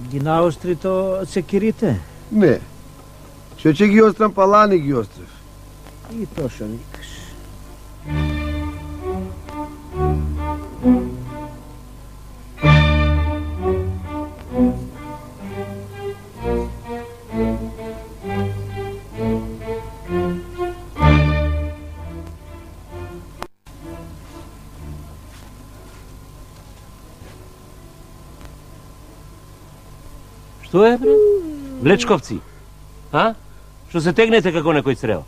Ги наостри то секирите? Не. Ќе ги острам, палани ги острев. И то шо викаш. Што е, бре? Влечковци? А? Што се тегнете како некој црел?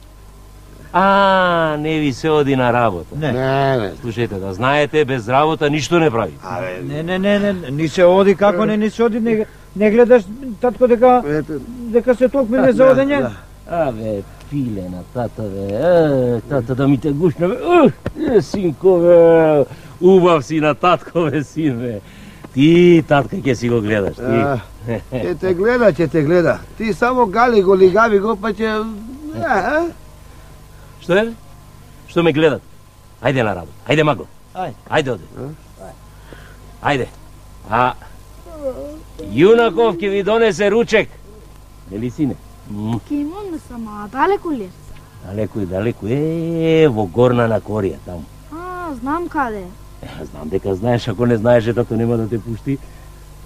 А, не ви се оди на работа. Не. Слушајте, да знаете, без работа ништо не прави. Не, ни се оди, како не се оди, не гледаш, татко, дека се толку не за одење? Абе, пилена, тата, бе, тата да ми те гушна, бе, синко, бе, убав си на татко, бе, син, бе. Ти, татка, ќе си го гледаш, ти. Ќе те гледа. Ти само гали го, лигави го, па ќе... Што е? Што ме гледат? Ајде на работа. Ајде, магло. Ајде, оде. Ајде. А Јунаков ќе ви донесе ручек. Нели, сине? Ке им однесам, а далеку ли? Далеку. Во горна на Корија, таму. Знам каде. Знам дека знаеш, ако не знаеш, тато нема да те пушти.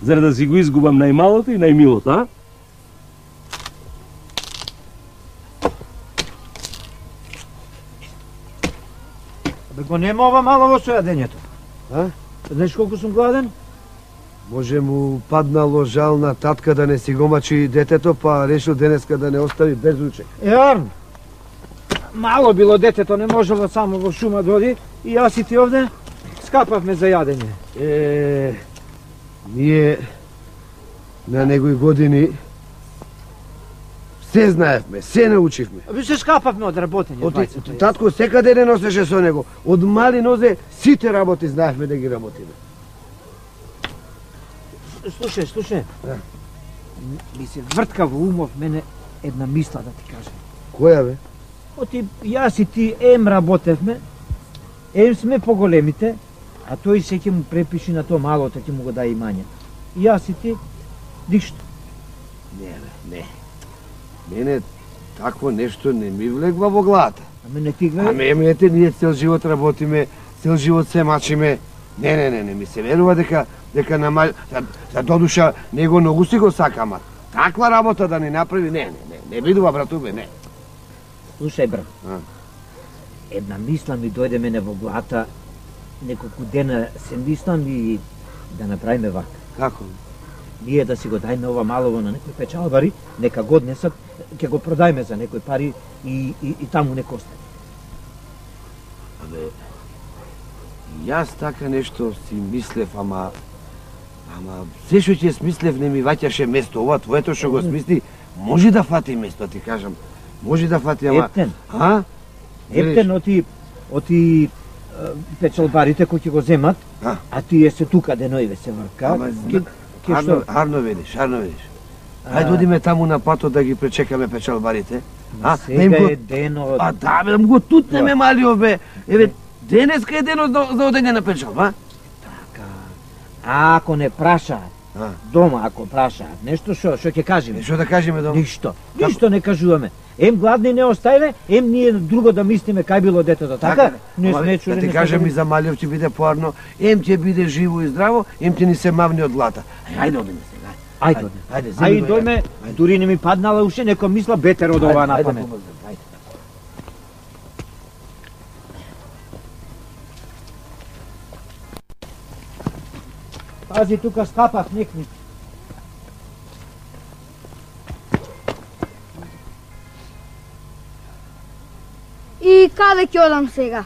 Зар да си го изгубам најмалото и најмилото, а? Бе го нема ова мало во сојадењето. Знаеш колку сум гладен? Може му паднало жал на татка да не си го мачи детето, па решил денеска да не остави без ручек. Арн, мало било детето, не можело само во шума да оди и јас и ти овде скапавме за јадење. Ние на некои години се знаевме, се научивме. Се скапавме од работење. Татко секаде не носеше со него. Од мали нозе сите работи знаевме да ги работиме. Слушај. Ми се вртка во умов мене една мисла да ти кажам. Која, бе? Оти јас и ти работевме, сме поголемите, а тој се ќе му препиши на тоа малото, ќе му го даде имањето. И јас и ти, ништо. Не. Мене такво нешто не ми влегва во главата. Аме не ти гледа? Аме, ние цел живот работиме, цел живот се мачиме. Не, ми се верува дека за додуша него многу си го сакама. Таква работа да ни направи, не бидува, братубе, не. Слушај, брат. Една мисла ми дојде мене во главата, неколку дена се мислам и да направиме вака. Како? Ние да си го дајме ова малово на некој печалбари, нека го однесат, ќе го продајме за некој пари и таму нека остане. Абе, јас така нешто си мислев, ама се што ќе смислев не ми ваќаше место. Ова твоето што го смисли, може да фати место, ти кажам. Може да фати, ама... Ептен, оти печалбарите кои ќе го земат, а тие се тука деноиве се врка. Арно ведиш. Хајде одиме таму на патот да ги пречекаме печалбарите. Сега е денот. Да, бе, го тутнеме малио, бе. Еве, денеска е денот за одење на печалба. Така. Ако не прашаат, дома ако прашаат, нешто што ќе кажеме? Што да кажеме дома? Ништо не кажуваме. Гладни не оставиме, ние друго да мислиме кај било детето, така? Не сме чули. Да ти кажем и за малиов ќе биде поарно, ќе биде живо и здраво, ќе ни се мавни од глата. Ајде одиме сега. Ајде, дојме, дури не ми паднала уште некоја мисла бетер од ова на памет. Пази, тука скапав некни. И каде ќе одам сега?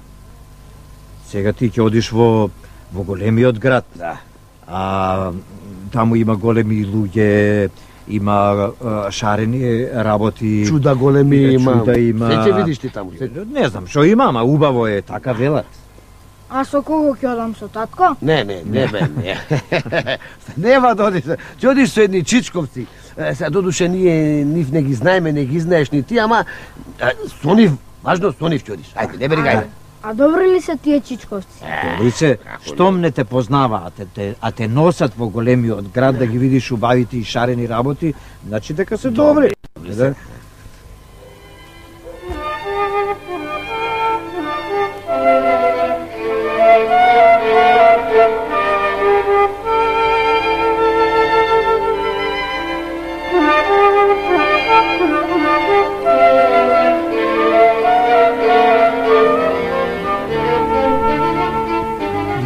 Сега ти ќе одиш во големиот град. Да. Таму има големи луѓе, има шарени работи. Чуда големи има. Се ќе видиш ти таму. Не знам што има, ама убаво е, така велат. А со кого ќе одам, со татко? Не. Нема да одиш. Ќе одиш со едни чичковци. Сега додуше ние нив не ги знаеме, не ги знаеш ни ти, ама со нив, важно со нив ќе одиш. Ајде, не бери гајде. А добри ли се тие чичковци? Добри се, штом не те познаваат, а те носат во големиот град да ги видиш убавите и шарени работи, значи дека се добри.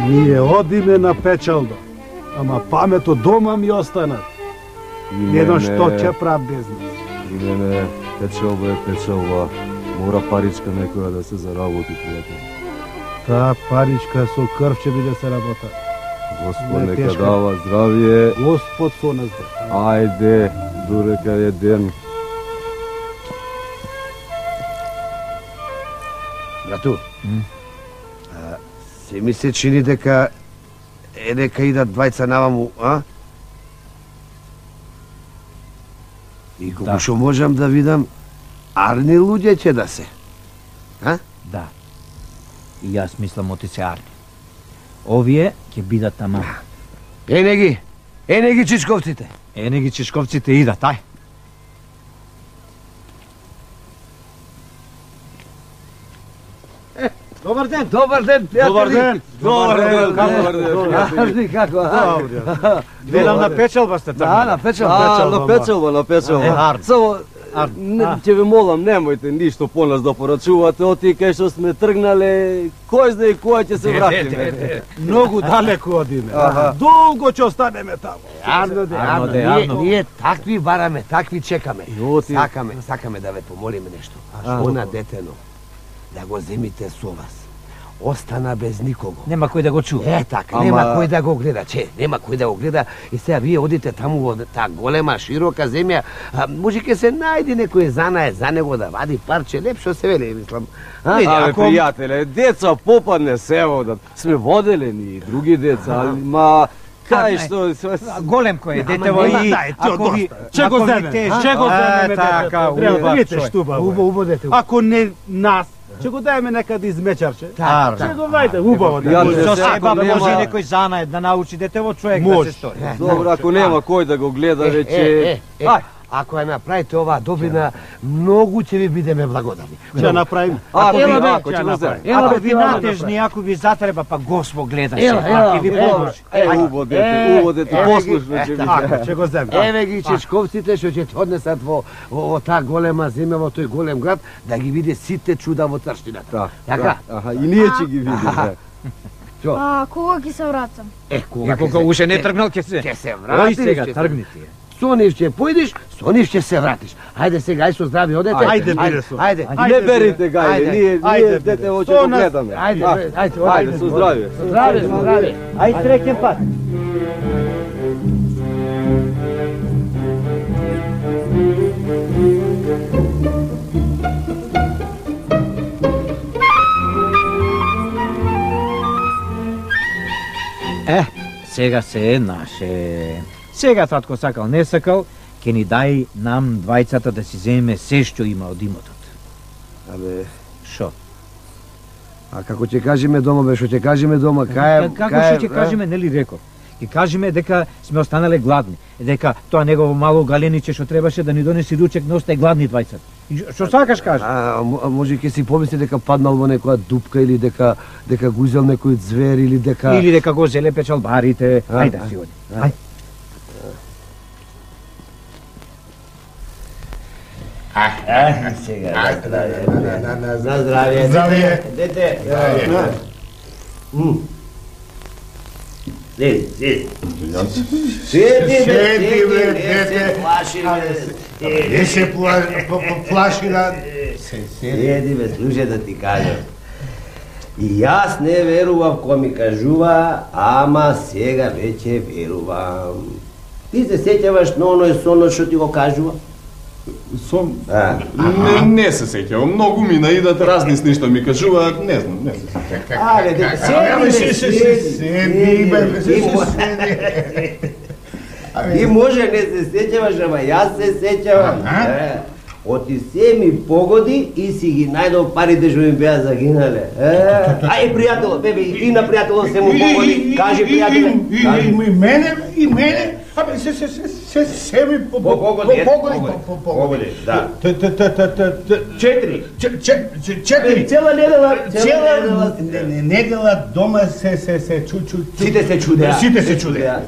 Ние одиме на печалба, ама памето дома ми останат. Едно што ќе прав без нас. И мене печалба е печалба. Мора паричка некоја да се заработи, пријател. Таа паричка со крв ќе биде се работа. Господ Не, нека тешко. дава здравие. Господ со нас да. Ајде, дурека е ден. Брату, се ми се чини дека дека идат двајца наваму, а? И колку што можам да видам, арни луѓе ќе да се. А? Да. И јас мислам оти се арни. Овие ќе бидат таму. Ене ги чичковците. Ене ги чешковците идат, ај. Добар ден! Добар ден, пријатели. Добар ден. Добар ден, Арни, како? Велам на печалба сте таму. Да, на печалба. на печалба. Само, ќе ви молам, немојте ништо по нас да порачувате, оти кај што сме тргнале, кој знае која ќе се вратиме. Многу далеко одиме. Аха. Долго ќе останеме таму. Арно, ние такви бараме, такви чекаме. И оти- Сакаме да ве помолиме нешто. Она детено, да го земите со вас. Остана без никого. Нема кој да го чува. Е, така, Ама- нема кој да го гледа, нема кој да го гледа. И сега вие одите таму во таа голема, широка земја, може ке се најде некој занае за него да вади парче, лепшо се вели, мислам. Абе, ако- пријателе, деца попадне се водат. Сме воделени и други деца, ма кај што... Голем кој е детево нема, и дај, ти ако ви одоста. Ќе го земе, ќе го земеме така, детето. убав Видите човек. штуба. Убаво дете. Ако не нас, ќе го даеме некаде измечарче. Така. Ќе го вајте, убаво Ја дете. не Со се, себе ако може нема- некој занае да научи детево човек да Може. се стори. Добро, ако нема кој да го гледа веќе... Ај, Ако ја направите оваа добрина, многу ќе ви бидеме благодарни. Ќе направиме. ако Ела, бе, ќе го земе. Ако ви натежни, ако ви затреба, па Господ гледаше, Ела, ако ви поможи. Убаво дете, послушно ќе Ако биде. ќе го земе. Еве ги чичковците што ќе те однесат во таа голема земја, во тој голем град, да ги види сите чуда во црштината. Така? Аха, и ние ќе ги видиме. А кога ќе се вратам? Е, кога И кога уште не тргнал ќе се. ќе се Ој вратиш, сега ќе се- тргни ти. Со нив ќе појдеш, со нив ќе се вратиш. Ајде сега, ај со здраве одете. Ајде, бире со. Ајде, Не берите гајде, ние Ајде, дете биде. ќе Со го нас- гледаме. ајде, Ајде, со здравје. Здраве, здраве. Ај среќен пат. Сега се е наше. Сега татко сакал, не сакал, ќе ни дај нам двајцата да си земеме се што има од имотот. Абе, Шо? а како ќе кажеме дома, бе, што ќе кажеме дома, кај Како што ќе кажеме, нели реков? Ќе кажеме дека сме останале гладни, дека тоа негово мало галениче што требаше да ни донеси ручек, не остај гладни двајцата. И што сакаш кажи? А може ќе си помисли дека паднал во некоја дупка или дека го изел некој звер или дека Или дека го зеле печалбарите. Ајде да си оди. Ајде. сега за здравје. Здравје. Дете. Седи. Седи, бе, дете. Плаши, бе. Не се плаши на... Седи, бе, слушај да ти кажам. И јас не верував кој ми кажува, ама сега веќе верувам. Ти се сеќаваш на оној сонот што ти го кажува? Сон? А. Не се сеќавам, многу мина идат разни сни што ми кажуваат, не знам, не се сеќавам. Але, дека Седи, бе, седи. Ти може не се сеќаваш, ама јас се сеќавам. Оти се ми погоди и си ги најдов парите што ми беа загинале. Ај, пријатело, бебе, и на пријатело се му погоди. Кажи, пријателе. И мене, абе, се ми погоди. Да. Четири. Цела недела. Недела дома се Сите се чудеа.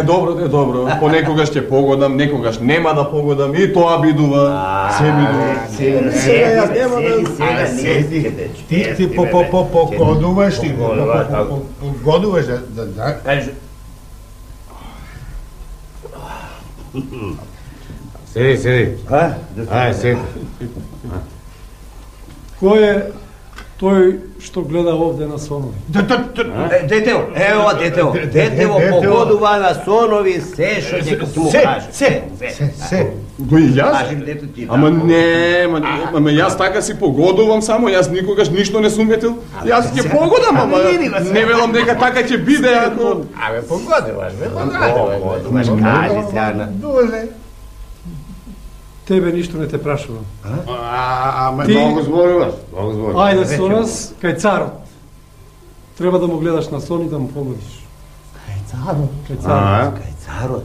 Добро. Понекогаш ќе погодам, некогаш нема да погодам и тоа бидува. Се бидува. Ти погодуваш, да. Кажи. Седи. Ај, седи. Кој е тој што гледа овде на сонови? Детево, ево детево. Детево погодува на сонови се што ќе му каже. Се. Кој јас? Кажи дето ти. Ама не, јас така си погодувам само, јас никогаш ништо не сум ветил. Јас ќе погодам, ама не велам дека така ќе биде ако... Абе, погодуваш, Кажи се, Ана. Тебе ништо не те прашувам. Ама многу зборуваш. Ајде со нас кај царот. Треба да му гледаш на сон и да му погодиш. Кај царот.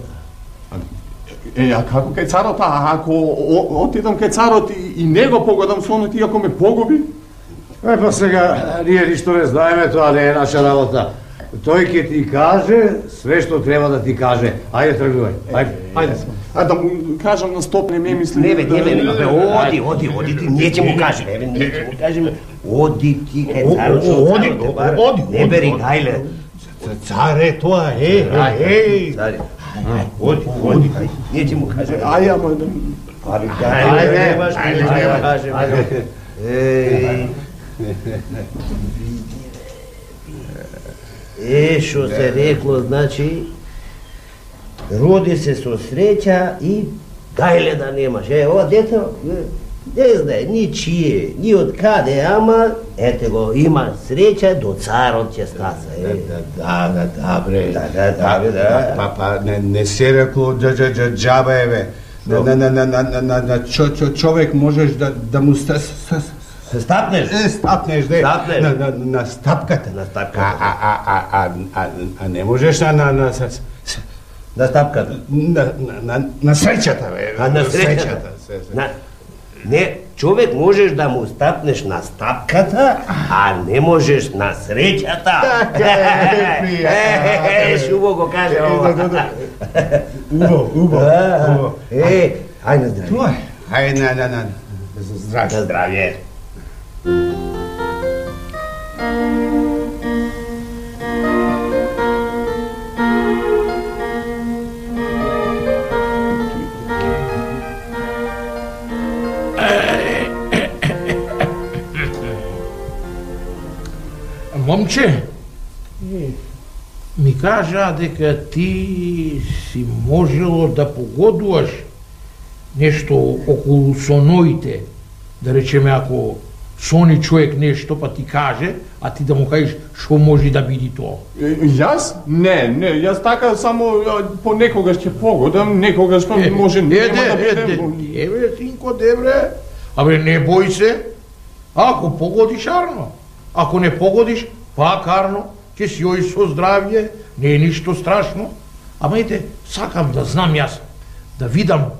А како кај царот, ако отидам кај царот и него погодам сонот и ако ме погуби? Па сега, ние ништо не знаеме, тоа не е наша работа. Тој ќе ти каже све што треба да ти каже. Ајде тргнувај. Ајде. А да му кажам на стоп, не ме мисли. Не бе, оди ти, не ќе му кажеме, не ќе му кажеме. Оди ти кај царот. Оди. Не бери гајле. Царе, тоа е. Царе. Оди. Не ќе му кажеме. Ај, ама да... Што се рекло, значи, роди се со среќа и гајле да немаш. Ова дете, не знае, ни чие, ни од каде, ама, ете го, има среќа, до царот ќе стаса. Да, бре. Па, не се рекло џаба, еве. На човек можеш да му се стапнеш? Стапнеш, де. На стапката. А не можеш на стапката? На среќата, бе. На среќата? Не, човек можеш да му стапнеш на стапката, а не можеш на среќата. Шубо го каже ова. Убаво. Ајде здравје. Ајде, здравје. Момче, ми кажа дека ти си можело да погодуваш нешто околу соноите, да речеме ако сони човек нешто па ти каже, а ти да му кажеш што може да биде тоа. Јас? Не, јас така само понекогаш ќе погодам, некогаш може нема да биде. Еве, синко, дебре, абе не бој се, ако погодиш арно, ако не погодиш, пак арно, ќе си ој со здравје, не е ништо страшно, ама ете, сакам да знам јас, да видам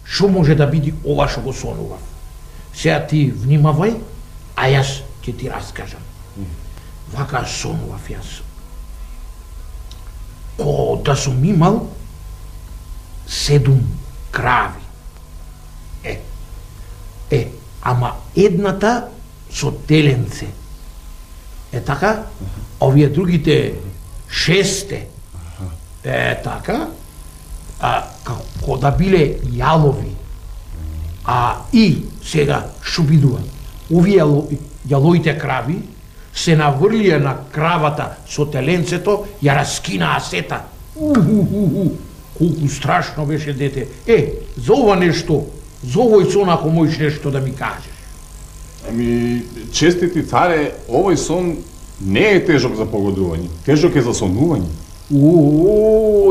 што може да биде ова што го сонував. Сега ти внимавај, а јас ќе ти раскажам. Вака сонував јас. Ко да сум имал 7 крави. Ама едната со теленце. Така, овие другите 6 така, како да биле јалови. И сега што бидува? Овие јалоите крави се наврлија на кравата со теленцето, ја раскинаа сета. Колку страшно беше, дете. За ова нешто, за овој сон ако можеш нешто да ми кажеш. Ами, честити царе, овој сон не е тежок за погодување, тежок е за сонување.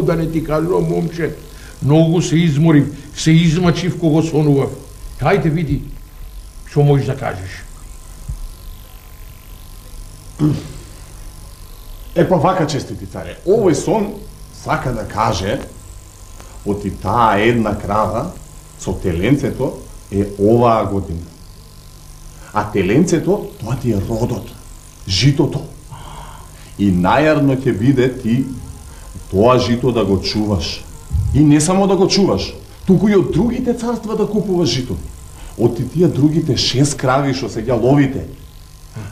Да не ти кажувам, момче, многу се изморив, се измачив кога сонував. Хајде види што можеш да кажеш. Па вака, честити царе, овој сон сака да каже оти таа една крава со теленцето е оваа година. А теленцето, тоа ти е родот, житото. И најарно ќе биде ти тоа жито да го чуваш. И не само да го чуваш, туку и од другите царства да купуваш жито. Од тие другите 6 крави што се ја ловите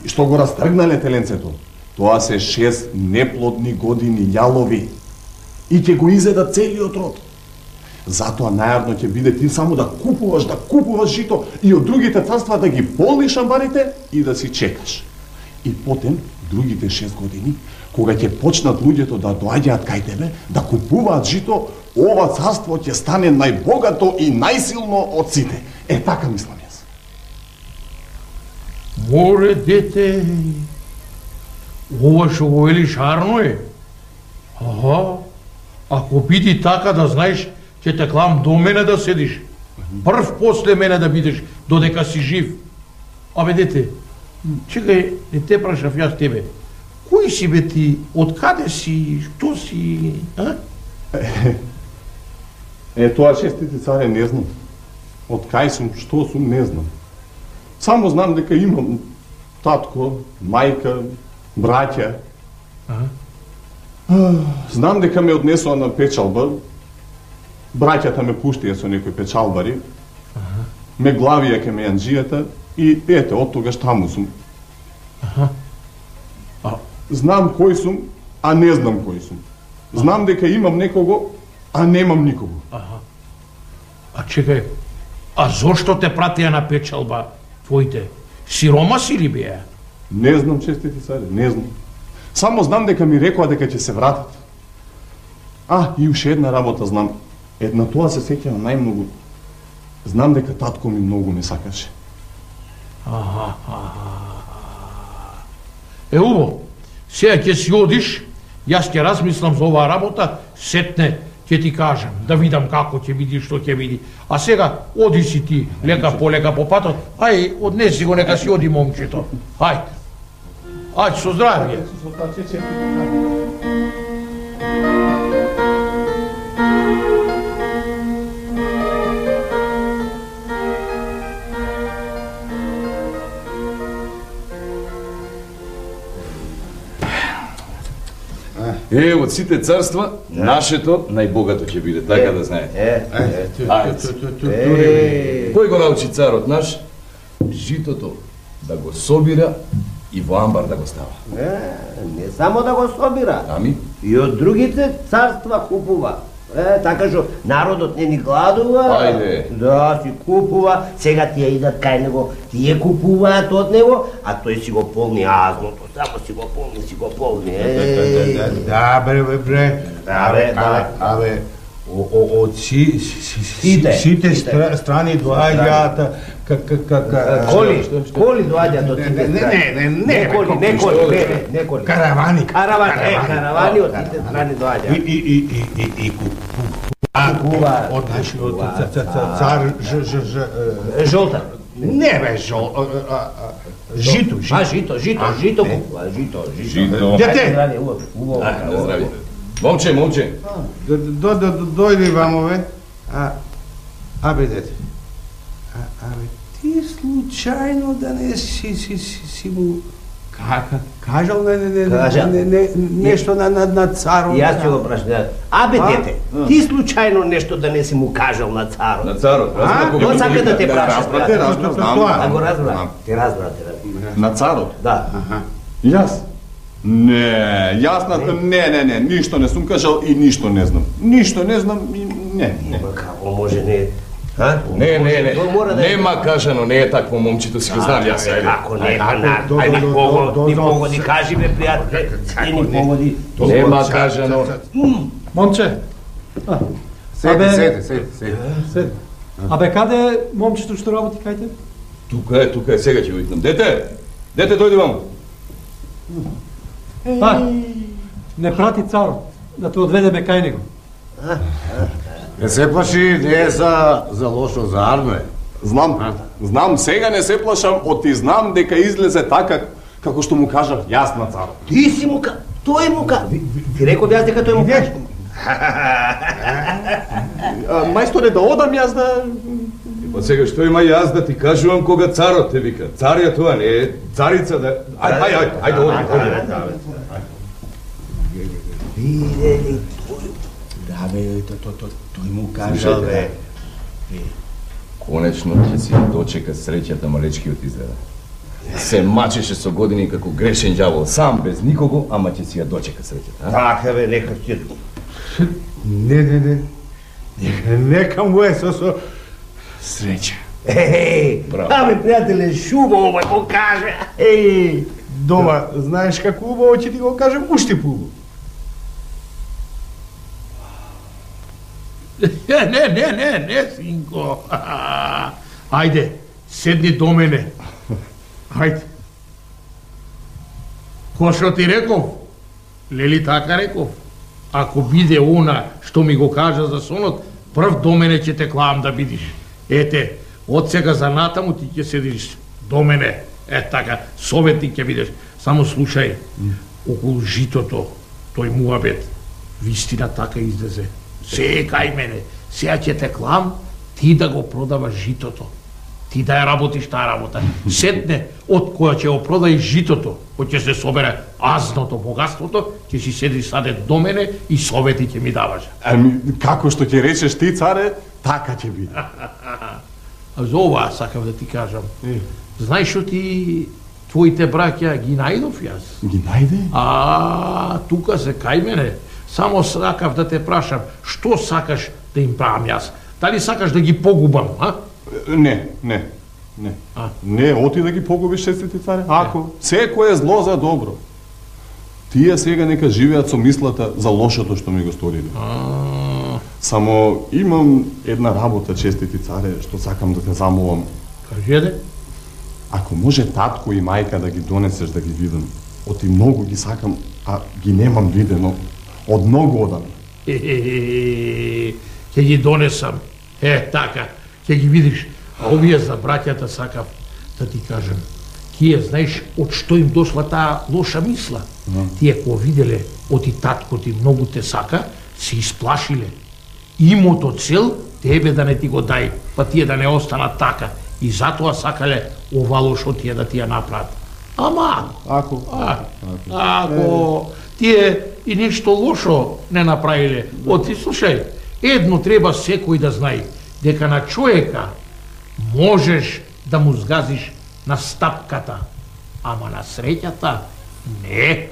и што го растргнале теленцето, тоа се 6 неплодни години јалови и ќе го изедат целиот род. Затоа најавно ќе биде ти само да купуваш жито и од другите царства да ги полниш амбарите и да си чекаш. И потем, другите 6 години, кога ќе почнат луѓето да доаѓаат кај тебе, да купуваат жито, ова царство ќе стане најбогато и најсилно од сите. Така мислам јас. Море, дете, ова што го велиш арно е. Ако биди така да знаеш, ќе те клам до мене да седиш. Прв после мене да бидеш, додека си жив. Абе, дете, чекај, не те прашав јас тебе. Кој си бе ти? Од каде си? Што си? Тоа, честити царе, не знам. Од кај сум, што сум, не знам. Само знам дека имам татко, мајка, браќа. Знам дека ме однесоа на печалба. Браќата ме пуштија со некои печалбари. Ме главија ке ме јанџијата и ете, од тогаш таму сум. Знам кој сум, а не знам кој сум. Знам дека имам некого, а немам никого. А чекај, а зошто те пратија на печалба твоите? Сирома си ли беа? Не знам, честити царе, не знам. Само знам дека ми рекоа дека ќе се вратат. И уште една работа знам. Една тоа се сеќавам најмногу. Знам дека татко ми многу ме сакаше. Убаво. Сега ќе си одиш, јас ќе размислам за оваа работа, сетне ќе ти кажам, да видам како ќе биди, што ќе биди. А сега оди си ти лека по патот, однеси го, нека си оди момчето. Ајде, со здравје. Од сите царства, нашето најбогато ќе биде, така да знаете. Кој го научи царот наш? Житото да го собира и во амбар да го става. Не само да го собира, и од другите царства купува. Така што народот не ни гладува, да си купува, сега тие идат кај него, тие купуваат од него, а тој си го полни азното, само си го полни. Да, бре. Абе, од сите страни доаѓаат коли доаѓаат од сите страни. Не коли. Каравани. Каравани од сите страни доаѓаат. И купуваат од нашиот цар Жолтар. Не бе жито. Жито купува, жито. Дете! Здравје. Момче. Дојди вамове. Абе, дете. Абе, ти случајно да не си му кажал нешто на царот? Јас ќе го прашам. Абе, дете, ти случајно нешто да не си му кажал на царот? На царот? Тоа сака да те прашам. Да го разбрав. Ти разбрав. На царот? Да. Јас? Не, јас не, ништо не сум кажал и ништо не знам. Ништо не знам и не. Како може не? Не, нема кажано, не е такво момчето, си го знам јас. Како не, ни погоди, кажи бе, пријател, ни погоди. Нема кажано. Момче. Седи. Абе, каде е момчето што работи кај те? Тука е, сега ќе го викнам. Дете, дојди ваму. Не прати царот, да те одведеме кај него. Не се плаши, не е за лошо, за арно е. Знам, сега не се плашам, оти знам дека излезе така како што му кажав јас на царот. Ти си му тој му ти реков јас дека тој му кажа. Мајсторе, да одам јас да... Па сега што има јас да ти кажувам кога царот те вика? Цар ја тоа, не е царица да... Ајде, оди. Да бе, тој му кажа, бе. Конечно ќе си дочека среќата малечкиот изгледа. Се мачеше со години како грешен ѓавол, сам без никого, ама ќе си ја дочека среќата. Така бе, нека ќе... Не. Нека му е со среќа. Абе, пријателе, шубаво ме го каже. Дома, знаеш како убаво ќе ти го кажем, уште поубаво. Не, синко. Ајде, седни до мене. Ајде. Ко што ти реков? Лели така реков? Ако биде она што ми го кажа за сонот, прв до мене ќе те клавам да бидиш. Ете, од сега за натаму ти ќе седиш до мене. Така, советник ќе бидеш. Само слушај, околу житото, тој муабет, вистина така излезе. Се кај мене, сега ќе те клам, ти да го продаваш житото. Ти да ја работиш таа работа. Сетне, од која ќе го продај житото, кој ќе се собере азното богатството, ќе си седиш саде до мене и совети ќе ми даваш. Како што ќе речеш ти, царе, така ќе биде. А за ова сакав да ти кажам. Знаеш што ти твоите браќа ги најдов јас? Ги најде? Тука се кај мене. Само сакав да те прашам, што сакаш да им правам јас? Дали сакаш да ги погубам, а? Не. Не, оти да ги погубиш честити царе. Ако, секој е зло за добро. Тие сега нека живеат со мислата за лошото што ми го сториле. Само имам една работа, честити царе, што сакам да те замолам. Кажи де? Ако може татко и мајка да ги донесеш да ги видам, оти многу ги сакам, а ги немам видено, од многу одам. Ќе ги донесам. Така, ќе ги видиш. А овие за браќата сакав да ти кажам. Тие, знаеш, од што им дошла таа лоша мисла. Тие кога виделе оти татко ти многу те сака, се исплашиле. Имото цел тебе да не ти го дај, па тие да не останат така. И затоа сакале ова лошо тие да ти ја направат. Ама, ако тие и нешто лошо не направиле, оти слушај, едно треба секој да знае, дека на човека можеш да му згазиш на стапката, ама на среќата не.